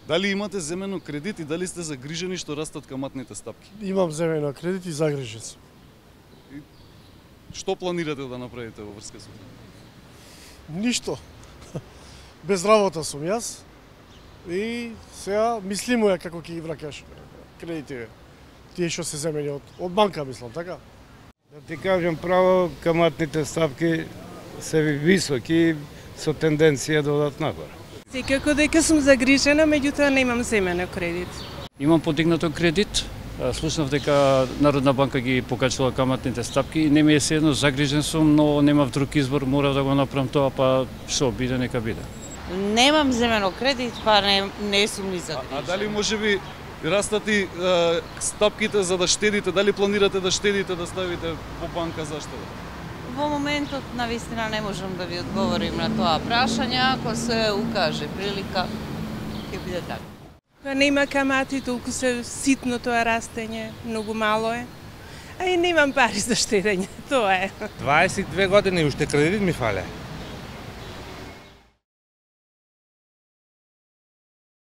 Дали имате земено кредит и дали сте загрижени што растат каматните стапки? Имам земено кредит и загрижен сум. Што планирате да направите во врска со тоа? Ништо. Без работа сум јас. И сега мислимо како ќе ги враќаш кредитите. Тие што се земени од банка, мислам, така? Да ти кажам право, каматните ставки се високи со тенденција да одат нагоре. Секако дека сум загрижена, меѓутоа немам земено кредит. Имам подигнато кредит. Слушнав дека Народна банка ги покачила каматните стапки. Не ми е седно, загрижен сум, но немав друг избор, морав да го направам тоа, па што биде, нека биде. Немам земено кредит, па не сум ни загрижена. А дали можеби растат и стапките за да штедите, дали планирате да штедите, да ставите во банка за штеда? Во моментот навистина не можам да ви одговорим на тоа прашање, ако се укаже прилика, ќе биде така. Па нема камати, толку се ситно тоа растење, многу мало е. А и немам пари за штедење, тоа е. 22 години уште кредит ми фале.